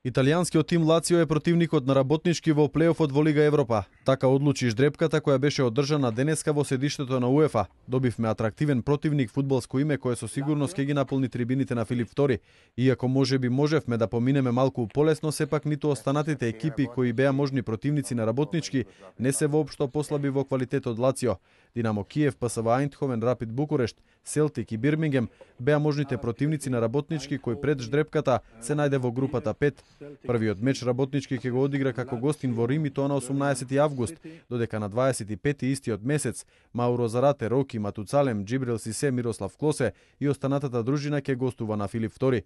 Италијанскиот тим Лацио е противникот на Работнички во плејофот во Лига Европа. Така одлучи ждрепката која беше одржана денеска во седиштето на УЕФА. Добивме атрактивен противник, фудбалско име кое со сигурност ќе ги наполни трибините на Филип II. Иако можеби можевме да поминеме малку полесно, сепак ниту останатите екипи кои беа можни противници на Работнички не се воопшто послаби во квалитет од Лацио. Динамо Киев, ПСВ Ајндховен, Рапид Букурешт, Селтик и Бирмингем беа можните противници на Работнички кој пред ждрепката се најде во групата 5. Првиот меч Работнички ќе го одигра како гостин во Рим и тоа на 18 август, додека на 25 истиот месец Мауро Зарате, Роки Матуцалем, Джибрил Сисе, Мирослав Клосе и останатата дружина ќе гостува на Филип II.